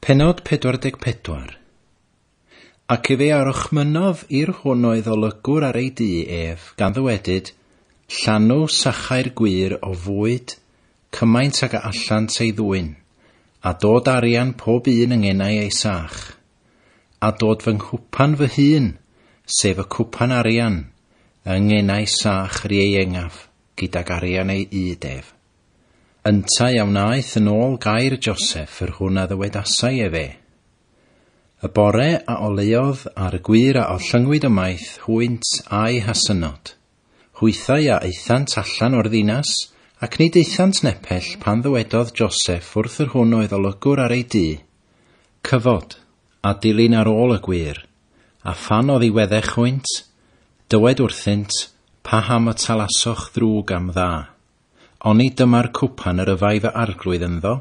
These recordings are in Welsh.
Pennod 44. Ac efe a orchmynnodd i'r hwn oedd olygwr ar ei dŷ ef, gan ddywedyd, Llanw sachau'r gwŷr o fwyd, cymaint ag a allant ei ddwyn, a dod arian pob un yng ngenau ei sach, a dod fy nghwpan fy hun, sef y cwpan arian, yng ngenau sach yr ieuengaf, gydag arian ei ŷd ef. Yntau a wnaeth yn ôl gair Joseph yr hwn a ddywedasai efe. Y bore a oleuodd a'r gwŷr a ollyngwyd ymaith hwynt a'u hasynod. Hwythau a aethant allan o'r ddinas, ac nid aethant nepell pan ddywedodd Joseph wrth yr hwn oedd olygwr ar ei dŷ, Cyfod, a dilyn ar ôl y gwŷr, a phan oddiweddech hwynt, dywed wrthynt, paham y talasoch ddrwg am dda. Oni dyma'r cwpan yr yfai fy arglwydd ynddo,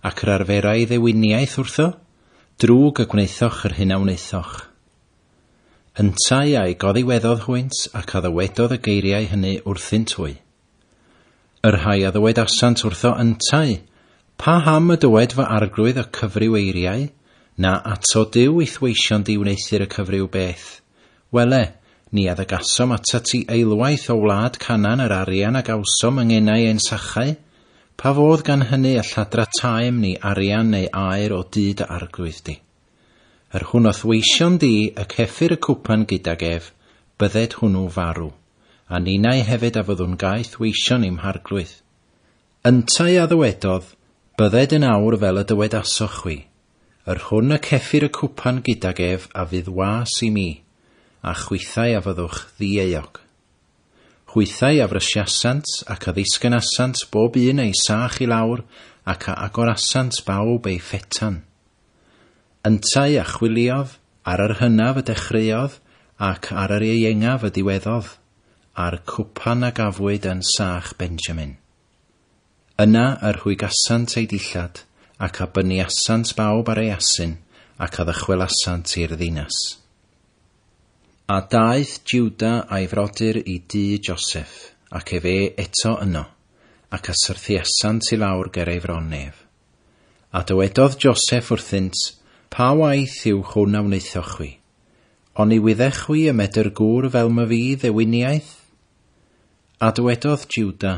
ac yr arferai ddewiniaeth wrtho? Drwg y gwnaethoch yr hyn a wnaethoch. Yntau a'i goddiweddodd hwynt, ac a ddywedodd y geiriau hynny wrthynt hwy. Y rhai a ddywedasant wrtho yntau, Paham y dywed fy arglwydd y cyfryw eiriau? Na ato Duw i'th weision di wneuthur y cyfryw beth. Wele, ni a ddygasom atat ti eilwaith o wlad Canaan yr arian a gawsom yng ngenau ein sachau? Pa fodd gan hynny y lladrataem ni arian neu aur o dŷ dy arglwydd di? Yr hwn o'th weision di y ceffir y cwpan gydag ef, bydded hwnnw farw, a ninnau hefyd a fyddwn gaeth weision i'm harglwydd. Yntau a ddywedodd, Bydded yn awr fel y dywedasoch chwi. Yr hwn y ceffir y cwpan gydag ef a fydd was i mi, a chwithau a fyddwch ddieuog. Hwythau a frysiasant ac a ddisgynasant bob un ei sach i lawr, ac a agorasant bawb ei phetan. Yntau a chwiliodd, ar yr hynaf y dechreuodd, ac ar yr ieuengaf y diweddodd, a'r cwpan a gafwyd yn sach Benjamin. Yna yr rhwygasant eu dillad, ac a byniasant bawb ar ei asyn, ac a ddychwelasant i'r ddinas. A daeth Juda a'i frodyr i dŷ Joseph, ac efe eto yno, ac a syrthiasant i lawr ger ei fron ef. A dywedodd Joseph wrthynt, Pa waith yw hwn a wnaethoch chwi? Oni wyddech chwi y medr gŵr fel myfi ddewiniaeth? A dywedodd Juda,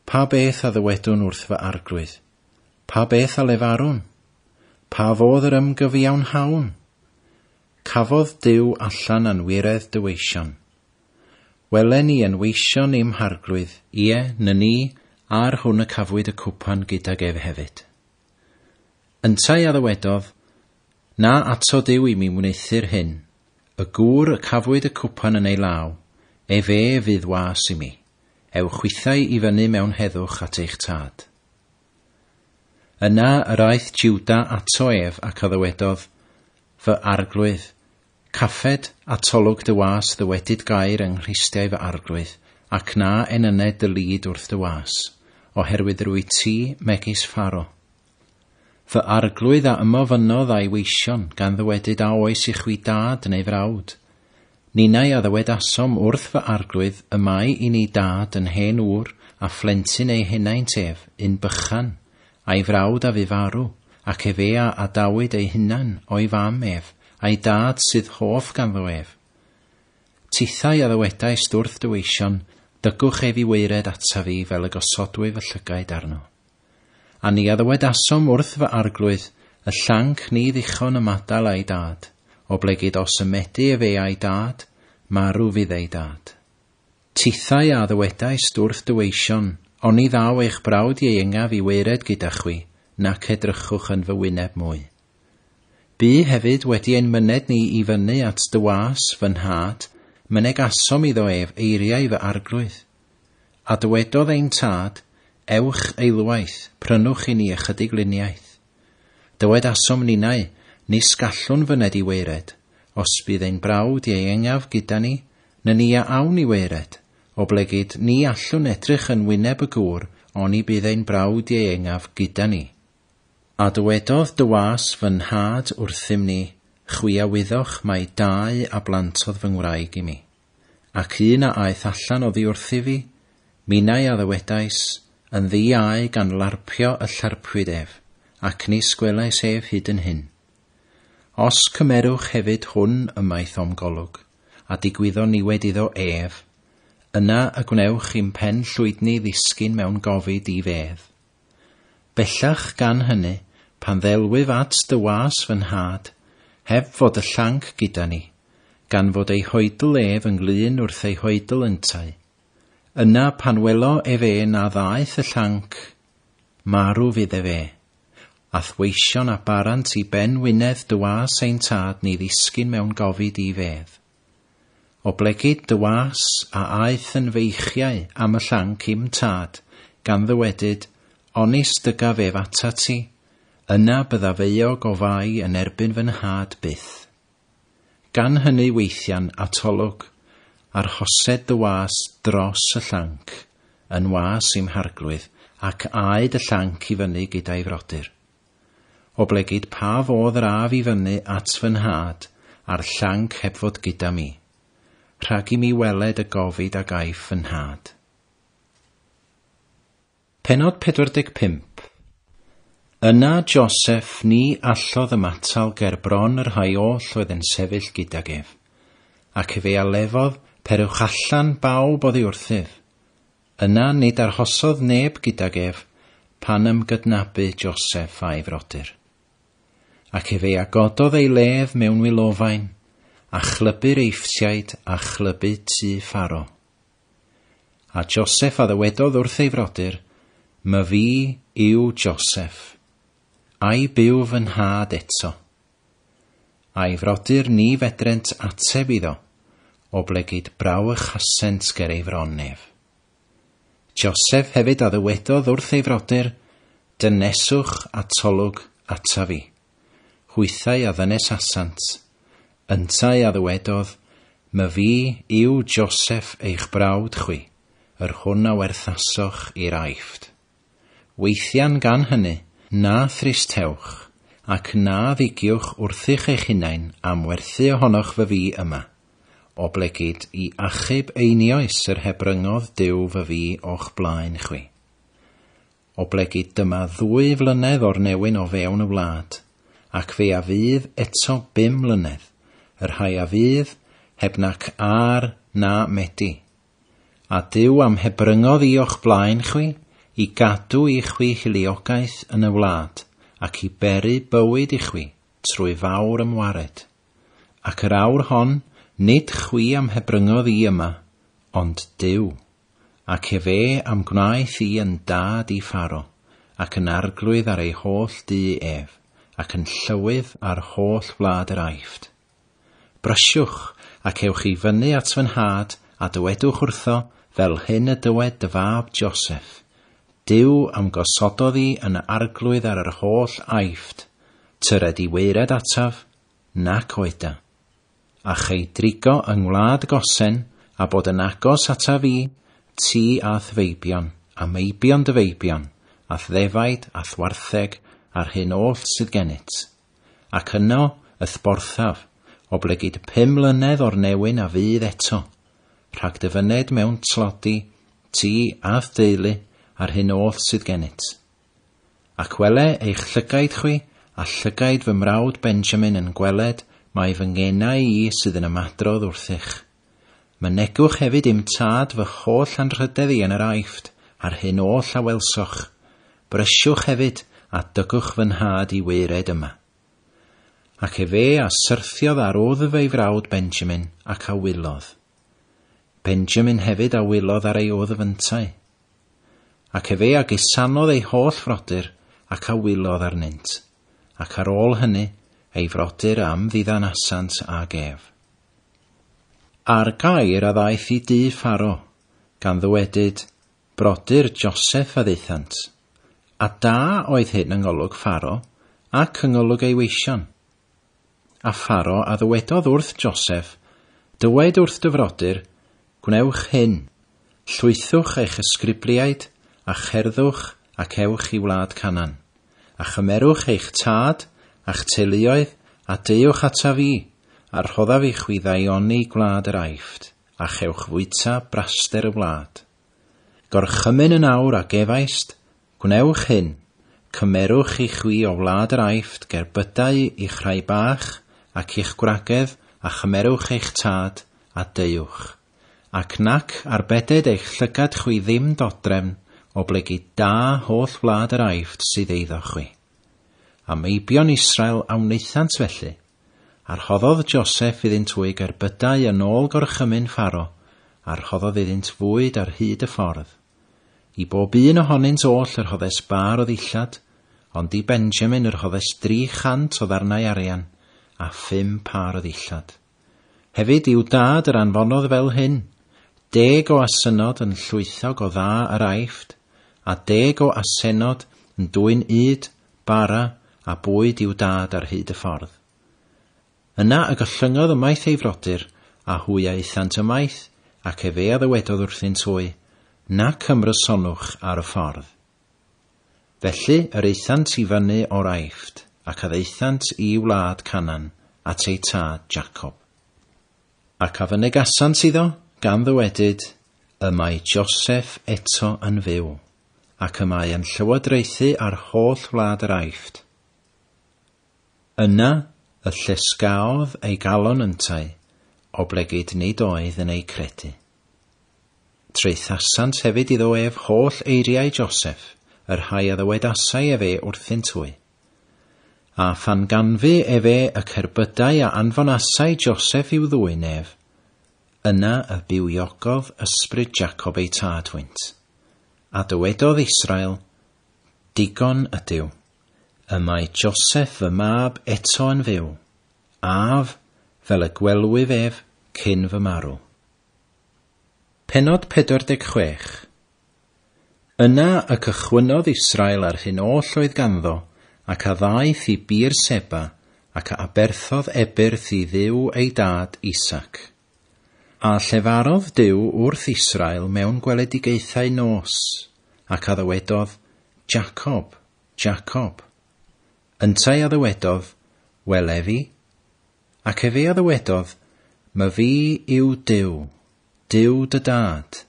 Pa beth a ddywedwn wrth fy arglwydd? Pa beth a lefarwn? Pa fodd yr ymgyfiawnhawn? Cafodd Duw allan anwiredd dy weision. Wele ni yn weision i'm harglwydd, ie, na ni, a'r hwn y cafwyd y cwpan gydag ef hefyd. Yntau a ddywedodd, Na ato Duw i mi wneuthur hyn, y gŵr y cafwyd y cwpan yn ei law, efe fydd was i mi. Ewch chwithau i fyny mewn heddwch at eich tad. Yna yr aeth Juda ato ef ac a ddywedodd, Fy arglwydd, caffed atolwg dy was ddywedyd gair yng nghristiau fy arglwydd, ac na enyned dy lid wrth dy was, oherwydd rwyt ti megis Pharo. Fy arglwydd a ymofynnodd a'i weision, gan ddywedyd a oes i chwi dad neu frawd. Ninnau a ddywedasom wrth fy arglwydd, y mae i ni dad yn hen ŵr, a phlentyn ei henaint ef, un bychan, a'i frawd a fu farw, ac efe a adawyd ei hunan o'i fam ef, a'i dad sydd hoff ganddo ef. Tithau a ddywedaist wrth dy weision, dygwch ef i waered ataf fi fel y gosodwyf fy llygaid arno. A ni a ddywedasom wrth fy arglwydd, y llanc ni ddichon ymadael â'i dad, oblegid os ymedu efe a'i dad, marw fydd ei dad. Tithau a ddywedaist wrth dy weision, oni ddaw eich brawd ieuengaf i waered gyda chwi, nac edrychwch yn fy wyneb mwy. Bu hefyd wedi ein myned ni i fyny at dy was, fy nhad, mynegasom iddo ef eiriau fy arglwydd. A dywedodd ein tad, Ewch eilwaith, prynwch i ni ychydig luniaeth. Dywedasom ninnau, nis gallwn fyned i waered, os bydd ein brawd ieuengaf gyda ni, na ni a awn i waered, oblegid ni allwn edrych yn wyneb y gŵr, oni bydd ein brawd ieuengaf gyda ni. A dywedodd dy was fy nhad wrthym ni, chwi a wyddoch mai dau a blantodd fy ngwraig i mi. Ac un a aeth allan oddi wrthyf fi, minnau a ddywedais, yn ddi-au gan larpio y llarpwyd ef, ac nis gwelais ef hyd yn hyn. Os cymerwch hefyd hwn ymaith o'm golwg, a digwyddo niwed iddo ef, yna y gwnewch i'm pen llwydni ddisgyn mewn gofid i fedd. Bellach gan hynny, pan ddelwyf at dy was fy nhad, heb fod y llanc gyda ni, gan fod ei hoedl ef ynglyn wrth ei hoedl yntau. Yna pan welo ef e na ddaeth y llanc, marw fydd ef e, a'th weision a barant i ben wynedd dy was ein tad ni ddisgyn mewn gofid i fedd. Oblegid dy was a aeth yn feichiau am y llanc i'm tad, gan ddywedyd, onis dygaf ef atat ti, yna byddaf euog o fai yn erbyn fy nhad byth. Gan hynny weithian atolwg, arhosed dy was dros y llanc, yn was i'm harglwydd, ac aed y llanc i fyny gyda'i frodyr. Oblegid pa fodd yr af i fyny at fy nhad, a'r llanc heb fod gyda mi, rhag i mi weled y gofid a gaiff fy nhad. Pennod 45. Yna Joseph ni allodd ymatal ger bron y rhai oll oedd yn sefyll gydag ef, ac efe a lefodd perwch allan bawb oddi wrthyf. Yna nid arhosodd neb gydag ef pan ymgydnabu Joseph a'i frodyr. Ac efe a gododd ei lef mewn wylofain, a chlybu'r Eifftiaid a chlybu tŷ Pharo. A Joseph a ddywedodd wrth ei frodyr, My fi yw Joseph, a'i byw fy nhad eto. A'i frodyr ni fedrent ateb iddo, oblegid brawychasent ger ei fron ef. Joseph hefyd a ddywedodd wrth ei frodyr, Dyneswch atolwg ataf fi. Hwythau a ddynesasant. Yntau a ddywedodd, My fi yw Joseph eich brawd chwi, yr hwn a werthasoch i'r Aifft. Weithian gan hynny, na thristewch, ac na ddigiwch wrthych eich hunain am werthu ohonoch fy fi yma, oblegid i achub einioes yr hebryngodd Duw fy fi o'ch blaen chwi. Oblegid dyma 2 flynedd o'r newyn o fewn y wlad, ac fe a fydd eto 5 mlynedd, y rhai a fydd heb nac ar na medi. A Duw am hebryngodd i o'ch blaen chwi, i gadw i chwi hiliogaeth yn y wlad, ac i beri bywyd i chwi trwy fawr ymwared. Ac yr awr hon, nid chwi am hebryngodd i yma, ond Duw. Ac efe am gwnaeth i yn dad i Pharo, ac yn arglwydd ar ei holl dŷ ef, ac yn llywydd ar holl wlad yr Aifft. Brysiwch, ac ewch i fyny at fy nhad, a dywedwch wrtho, fel hyn y dywed dy fab Joseph. Duw am gosododd i yn arglwydd ar yr holl Aifft, tyred i weired ataf, nac oeda. A chei drigo yng ngwlad Gosen, a bod yn agos ataf i, ti a'th feibion, a meibion dy feibion, a'th ddefaid, a'th wartheg, a'r hyn oll sydd gennyt. Ac yno y'th borthaf, oblegid 5 mlynedd o'r newyn a fydd eto, rhag dy fyned mewn tlodi, ti a'th deulu, a'r hyn oll sydd gennyt. Ac wele eich llygaid chwi, a llygaid fy mrawd Benjamin yn gweled, mae fy ngenau i sydd yn ymadrodd wrthych. Mynegwch hefyd i'm tad fy holl anrhydedd i yn yr Aifft, a'r hyn oll a welsoch. Brysiwch hefyd, a dygwch fy nhad i weired yma. Ac efe a syrthiodd ar wddf ei frawd Benjamin, ac a wylodd. Benjamin hefyd a wylodd ar ei wddf yntau. Ac efe a gusanodd ei holl frodyr, ac a wylodd arnynt. Ac ar ôl hynny, ei frodyr am ddiddanasant ag ef. A'r gair a ddaeth i dŷ Pharo, gan ddywedyd, brodyr Joseph a ddaethant. A da oedd hyn yng ngolwg Pharo, ac yng ngolwg ei weision. A Pharo a ddywedodd wrth Joseph, dywed wrth dy frodyr, gwnewch hyn, llwythwch eich ysgribliaid, a cherddwch ac ewch i wlad Canaan, a chymerwch eich tad a'ch teuluoedd, a deuwch ataf fi, a rhoddaf i chwi ddaioni gwlad yr Aifft, a chewch fwyta braster y wlad. Gorchymyn yn awr a gefaist, gwnewch hyn, Cymerwch i chwi o wlad yr Aifft gerbydau i'ch rhai bach ac i'ch gwragedd, a chymerwch eich tad, a deuwch. Ac nac arbeded eich llygad chwi ddim dodrefn, oblegid da holl wlad yr Aifft sydd eiddo chwi. A meibion Israel a wnaethant felly, a rhoddodd Joseph iddynt hwy gerbydau yn ôl gorchymyn Pharo, a rhoddodd iddynt fwyd ar hyd y ffordd. I bob un ohonynt oll yr rhoddes bar o ddillad, ond i Benjamin yr rhoddes 300 o ddarnau arian a 5 pâr o ddillad. Hefyd i'w dad yr anfonodd fel hyn, 10 o asynod yn llwythog o dda yr Aifft, a 10 o asenod yn dwyn ŷd, bara a bwyd i'w dad ar hyd y ffordd. Yna y gollyngodd ymaith ei frodyr, a hwy a aethant ymaith, ac efe a ddywedodd wrthynt hwy, nac ymrysonwch ar y ffordd. Felly yr aethant i fyny o'r Aifft, ac a ddaethant i wlad Canaan, at eu tad Jacob. Ac a fynegasant iddo, gan ddywedyd, y mae Joseph eto yn fyw, ac y mae yn llywodraethu ar holl wlad yr Aifft. Yna y llesgaodd ei galon yntau, oblegid nid oedd yn ei credu. Traethasant hefyd iddo ef holl eiriau Joseph, yr rhai a ddywedasai efe wrthynt hwy. A phan ganfu efe y cerbydau a anfonasai Joseph i'w ddwyn ef, yna y bywiogodd ysbryd Jacob ei tad hwynt. A dywedodd Israel, digon ydyw, y mae Joseph fy mab eto yn fyw, af fel y gwelwyf ef cyn fy marw. Pennod 46. Yna y cychwynnodd Israel ar hyn oll oedd ganddo, ac a ddaeth i Beer-seba, ac a aberthodd ebyrth i Dduw ei dad Isaac. A llefarodd Duw wrth Israel mewn gweledigaethau nos, ac a ddywedodd, Jacob, Jacob. Yntau a ddywedodd, wele fi. Ac efe a ddywedodd, my fi yw Duw, Duw dy dad.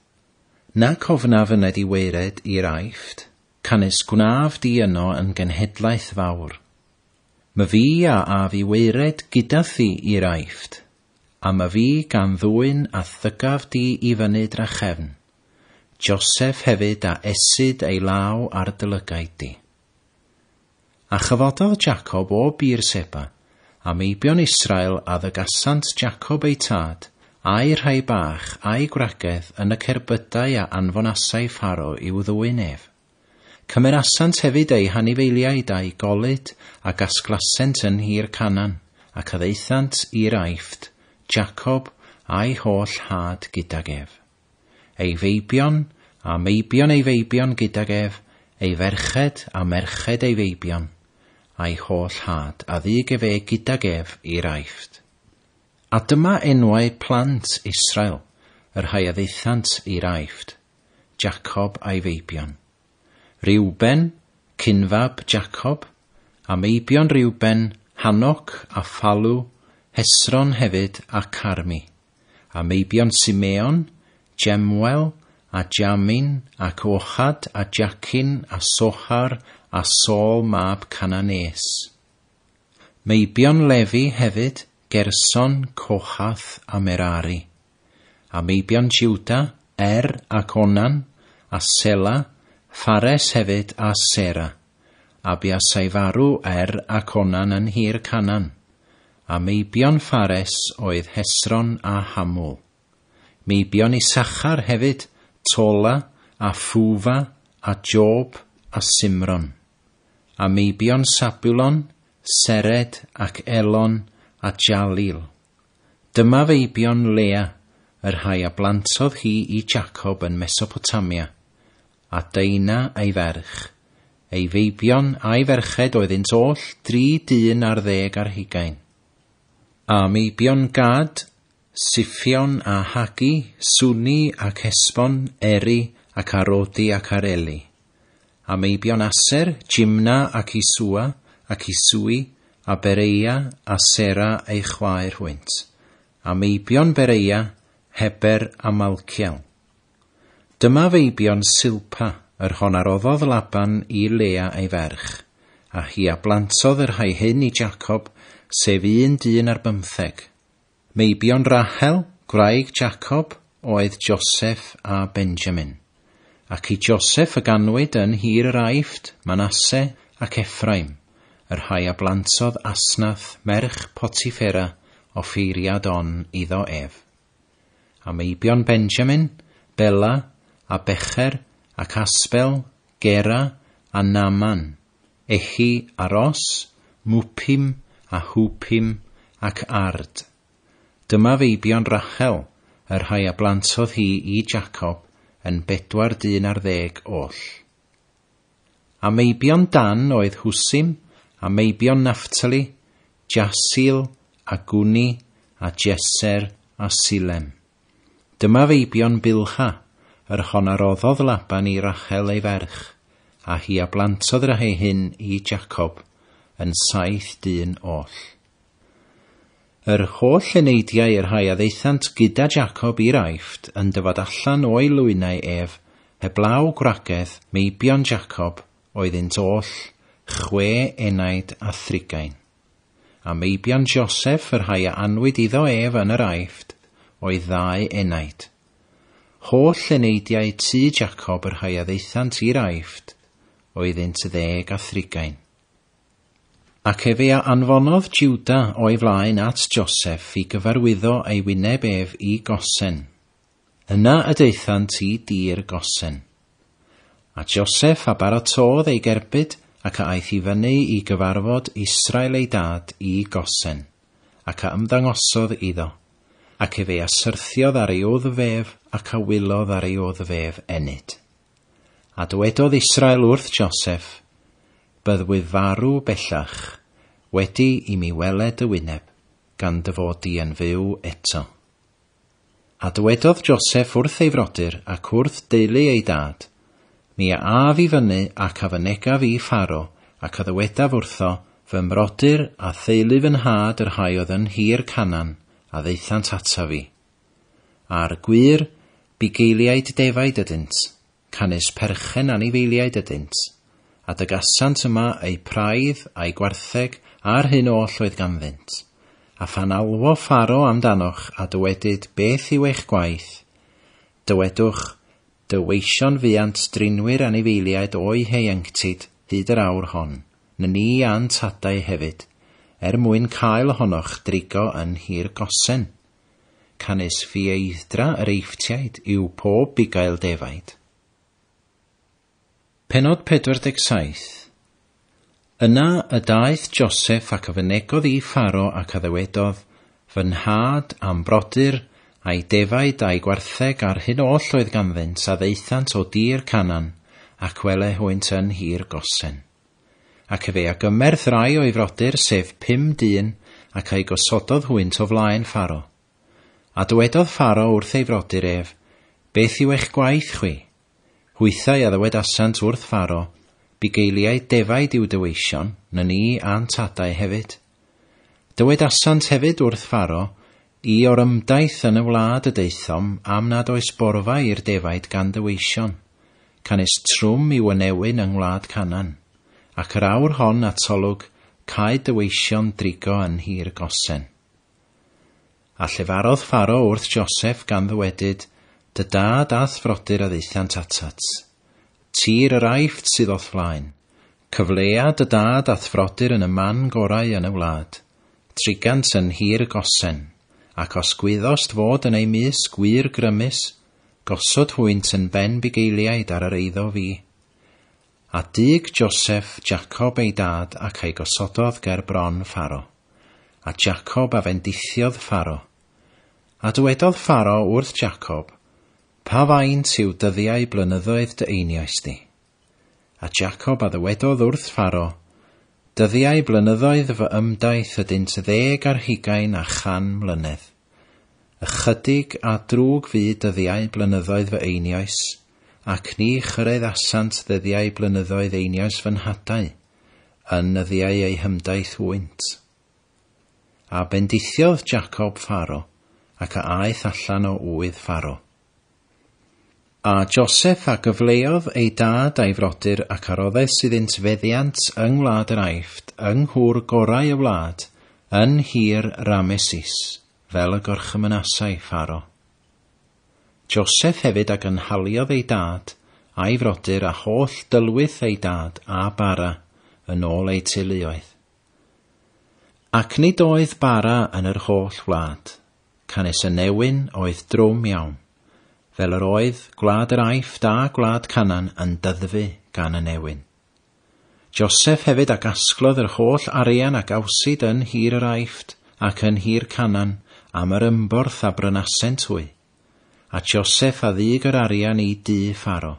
Nac ofnaf fyned i waered i'r Aifft, canys gwnaf di yno yn genhedlaeth fawr. My fi a af i waered gyda thi i'r Aifft, a my fi gan ddwyn a thygaf di i fyny drachefn. Joseph hefyd a esyd ei law ar dy lygaid di. A chyfododd Jacob o Beer-seba, a meibion Israel a ddygasant Jacob ei tad, a'i rhai bach, a'i gwragedd yn y cerbydau a anfonasai Pharo i'w ddwyn ef. Cymerasant hefyd eu hanifeiliaid a'i golud a gasglasent yn nhir Canaan, ac a ddaethant i'r Aifft, Jacob a'i holl had gydag ef. Ei feibion a meibion ei feibion gydag ef, ei ferched a merched ei feibion, a'i holl had a ddug efe gydag ef i'r Aifft. A dyma enwau plant Israel, yr rhai a ddaethant i'r Aifft, Jacob a'i feibion. Reuben, cynfab Jacob, a meibion Reuben, Hanoc a Phalw, Hesron hefyd a Carmi, a meibion Simeon, Jemuel a Jamin ac Ochad a Jacin a Sochar a Saul mab Cananees. Meibion Lefi hefyd, Gerson, Kohath a Merari. A meibion Juda, Er ac Onan, a Sela, Phares hefyd a Sera. A buasai farw Er ac Onan yn nhir Canaan. A meibion Phares oedd Hesron a Hamul. Meibion Issachar hefyd, Tola a Fwfa a Job a Simron. A meibion Sabulon, Sered ac Elon a Jalil. Dyma feibion Lea, yr rhai a blantodd hi i Jacob yn Mesopotamia, a Deina ei ferch. Ei feibion a'i ferched oeddynt oll 20. A meibion Gad, Siffion a Hagi, Suni ac Hesbon, Eri ac Arodi ac Areli. A meibion Aser, Jimna ac Isua ac Isui, a Bereia a Sera ei chwaer hwynt. A meibion Bereia, Heber a Malciel. Dyma feibion Silpa, yr hon a roddodd Laban i Lea ei ferch, a hi a blantodd yr rhai hyn i Jacob, sef 11. Meibion Rahel, gwraig Jacob, oedd Joseph a Benjamin. Ac i Joseph y ganwyd yn nhir yr Aifft, Manasse ac Ephraim, yr rhai a blantodd Asnath merch Potiphera offeiriad On iddo ef. A meibion Benjamin, Bela a Becher ac Asbel, Gera a Naaman, Ehi a Ros, Muppim a Hwpim ac Ard. Dyma feibion Rachel, y rhai a blantodd hi i Jacob yn 40 oll. A meibion Dan oedd Hwsim, a meibion Naphtali, Jasil a Gwni a Jeser a Silem. Dyma feibion Bilha, yr hon a roddodd Laban i Rachel ei ferch, a hi a blantodd rhai hyn i Jacob yn 7 oll. Yr holl eneidiau yr rhai a ddaethant gyda Jacob i'r Aifft yn dyfod allan o'i lwynau ef, heblaw gwragedd, meibion Jacob, oeddynt oll 630. A meibion Joseph yr rhai a anwyd iddo ef yn yr Aifft, oedd 2. Holl eneidiau tŷ Jacob yr rhai a ddaethant i'r Aifft, oeddynt 30. Ac efe a anfonodd Juda o'i flaen at Joseph i gyfarwyddo ei wyneb ef i Gosen. Yna y daethant i dir Gosen. A Joseph a baratodd ei gerbyd ac a aeth i fyny i gyfarfod Israel ei dad i Gosen, ac a ymddangosodd iddo, ac efe a syrthiodd ar ei wddf ac a wylodd ar ei wddf ennyd. A dywedodd Israel wrth Joseph, byddwyf farw bellach, wedi i mi weled y wyneb, gan dy fod di yn fyw eto. A dywedodd Joseph wrth ei frodyr ac wrth deulu ei dad, mi a af i fyny ac a fynegaf i Pharo, ac a ddywedaf wrtho, fy mrodyr a theulu fy nhad yr rhai oedd yn nhir Canaan, a ddaethant ataf fi. A'r gwir, bugeiliaid defaid ydynt, canys perchen anifeiliaid ydynt, a dygasant yma eu praidd a'i gwartheg a'r hyn oll oedd ganddynt. A phan alwo Pharo amdanoch a dywedyd beth yw eich gwaith, dywedwch, dy weision fuant drinwyr anifeiliaid o'i hieuenctid hyd yr awr hon, na ni a'n tadau hefyd, er mwyn cael ohonoch drigo yn nhir Gosen. Canys ffieidd-dra yr Eifftiaid yw pob bugail defaid. Pennod 47. Yna y daeth Joseph ac a fynegodd i Pharo ac a ddywedodd, fy nhad a'm brodyr, a'i defaid a'i gwartheg a'r hyn oll oedd ganddynt a ddaethant o dir Canaan, ac wele hwynt yn nhir Gosen. Ac efe a gymerth rai o'i frodyr, sef 5 dyn, ac a'i gosododd hwynt o flaen Pharo. A dywedodd Pharo wrth ei frodyr ef, beth yw eich gwaith chwi? Hwythau a ddywedasant wrth Pharo, bugeiliaid defaid i'w dyweision, na ni a'n tadau hefyd. Dywedasant hefyd wrth Pharo, i o'r ymdaith yn y wlad y daethom am nad oes borfa i'r defaid gan dyweision, canys trwm i'w ynewyn yng ngwlad Canaan, ac yr awr hon atolwg caed dyweision drigo yn nhir Gosen. A llefarodd Pharo wrth Joseph gan ddywedyd, dy dad a'th frodyr a ddaethant atat. Tir yr Aifft sydd o'th flaen. Cyflea dy dad a'th frodyr yn y man gorau yn y wlad. Trigant yn nhir Gosen, ac os gwyddost fod yn ei mysg gwir grymus, gosod hwynt yn ben bugeiliaid ar yr eiddo fi. A dug Joseph Jacob ei dad ac ei gosododd ger bron Pharo. A Jacob a fendithiodd Pharo. A dywedodd Pharo wrth Jacob, pa faint yw dyddiau blynyddoedd dy einioes di? A Jacob a ddywedodd wrth Pharo, dyddiau blynyddoedd fy ymdaith ydynt 120 mlynedd. Ychydig a drwg fu dyddiau blynyddoedd fy einioes, ac ni chyraeddasant ddyddiau blynyddoedd einioes fy nhadau, yn nyddiau eu hymdaith hwynt. A bendithiodd Jacob Pharo, ac a aeth allan o ŵydd Pharo. A Joseph a gyfleodd ei dad a'i frodyr ac a roddes iddynt feddiant yng ngwlad yr Aifft, yng nghwr gorau y wlad, yn nhir Rameses, fel y gorchymynasai Pharo. Joseph hefyd a gynhaliodd ei dad a'i frodyr a holl dylwyth ei dad a bara yn ôl eu teuluoedd. Ac nid oedd bara yn yr holl wlad, canys y newyn oedd drwm iawn, fel yr oedd gwlad yr Aifft a gwlad Canaan yn dyddfu gan y newyn. Joseph hefyd a gasglodd yr holl arian a gawsid yn nhir yr Aifft ac yn nhir Canaan am yr ymborth a brynasent hwy, a Joseph a ddug yr arian i dŷ Pharo.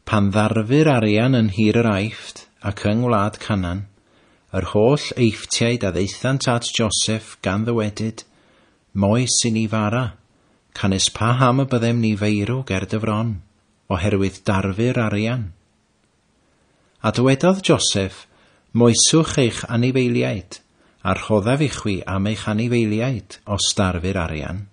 Pan ddarfu'r arian yn nhir yr Aifft ac yng ngwlad Canaan, yr holl Eifftiaid a ddaethant at Joseph gan ddywedyd, Moes i ni fara, canys paham y byddem ni feirw ger dy fron, oherwydd darfu'r arian. A dywedodd Joseph, Moeswch eich anifeiliaid, a rhoddaf i chwi am eich anifeiliaid os darfu'r arian.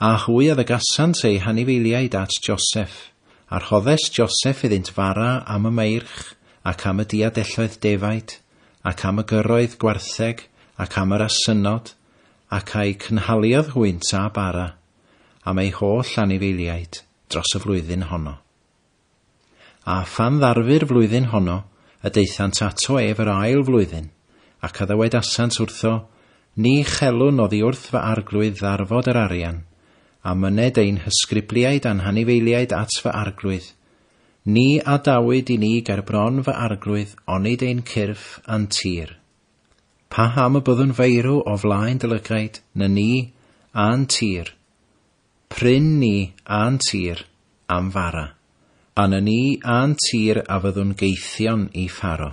A hwy a ddygasant eu hanifeiliaid at Joseph, a rhoddes Joseph iddynt fara am y meirch, ac am y diadelloedd defaid, ac am y gyrroedd gwartheg, ac am yr asynod, ac a'i cynhaliodd hwynt a bara, am eu holl anifeiliaid dros y flwyddyn honno. A phan ddarfu'r flwyddyn honno, y daethant ato ef yr ail flwyddyn, ac a ddywedasant wrtho, Ni chelwn oddi wrth fy arglwydd ddarfod yr arian, a myned ein hysgribliaid a'n hanifeiliaid at fy arglwydd. Ni adawyd i ni ger bron fy arglwydd, onid ein cyrff a'n tir. Paham y byddwn feirw o flaen dy lygaid, na ni a'n tir? Pryn ni a'n tir am fara, a na ni a'n tir a fyddwn gaethion i Pharo.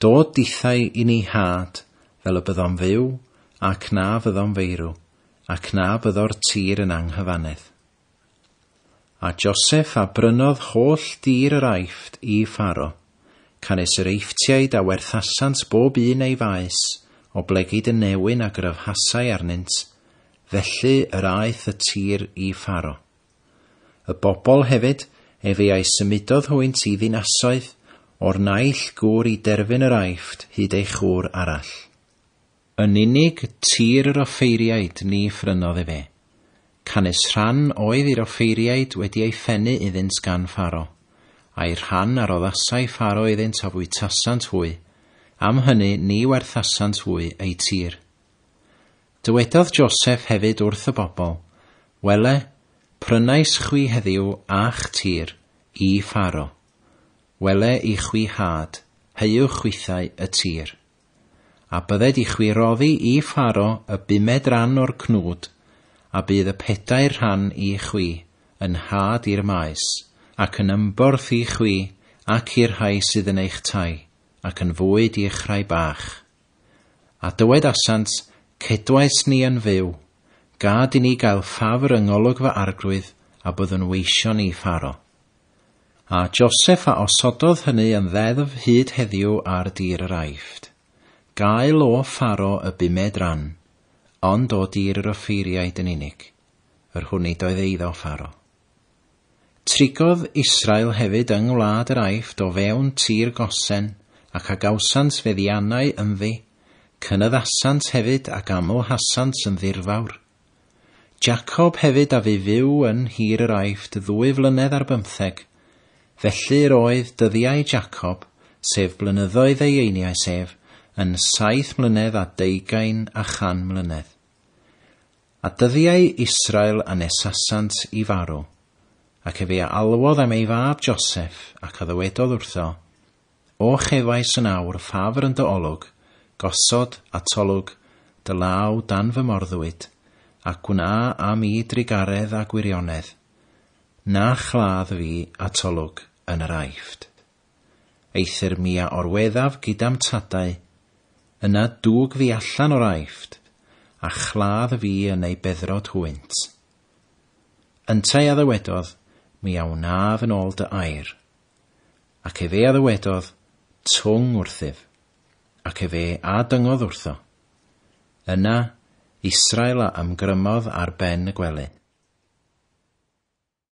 Dod dithau i ni had, fel y byddom fyw, ac na fyddom feirw, ac na fyddo'r tir yn anghyfannedd. A Joseph a brynodd holl dir yr Aifft i Pharo, canys yr Eifftiaid a werthasant bob un ei faes, oblegid y newyn a gryfhasai arnynt, felly yr aeth y tir i Pharo. Y bobl hefyd, efe a'i symudodd hwynt i ddinasoedd, o'r naill gŵr i derfyn yr Aifft hyd ei chwr arall. Yn unig tir yr offeiriaid ni phrynodd efe, canys rhan oedd i'r offeiriaid wedi ei phennu iddynt gan Pharo, a'i rhan a roddasai Pharo iddynt a fwytasant hwy, am hynny ni werthasant hwy eu tir. Dywedodd Joseph hefyd wrth y bobl, Wele, prynais chwi heddiw a'ch tir i Pharo. Wele i chwi had, heuwch chwithau y tir. A bydded i chwi roddi i Pharo y bumed ran o'r cnwd, a bydd y pedair rhan i chwi yn had i'r maes, ac yn ymborth i chwi ac i'r rhai sydd yn eich tai, ac yn fwyd i'ch rhai bach. A dywedasant, Cedwais ni yn fyw, gad i ni gael ffafr yng ngolwg fy arglwydd, a byddwn weision i Pharo. A Joseph a osododd hynny yn ddeddf hyd heddiw ar dir yr Aifft. Gael o Pharo y bumed ran, ond o dir yr offeiriaid yn unig, yr hwn nid oedd eiddo Pharo. Trigodd Israel hefyd yng ngwlad yr Aifft o fewn tir Gosen, ac a gawsant feddiannau ynddi, cynyddasant hefyd ac amlhasant yn ddirfawr. Jacob hefyd a fu fyw yn nhir yr Aifft 2 flynedd ar 15, felly yr oedd dyddiau Jacob, sef blynyddoedd ei einioes ef, yn 7 mlynedd a 200 a 100 mlynedd. A dyddiau Israel a nesasant i farw, ac efe a alwodd am ei fab Joseph, ac a ddywedodd wrtho, O chefais yn awr ffafr yn dy olwg, gosod atolwg dy law dan fy morddwyd, a gwna am i drugaredd a gwirionedd, na chladd fi atolwg yn yr Aifft. Eithr mi a orweddaf gyda'm tadau, yna dwg fi allan o'r Aifft, a chladd fi yn ei beddrod hwynt. Yntau a ddywedodd, mi a wnaf yn ôl dy air. Ac efe a ddywedodd, twng wrthyf. Ac efe a dyngodd wrtho. Yna, Israel a ymgrymodd ar ben y gwely.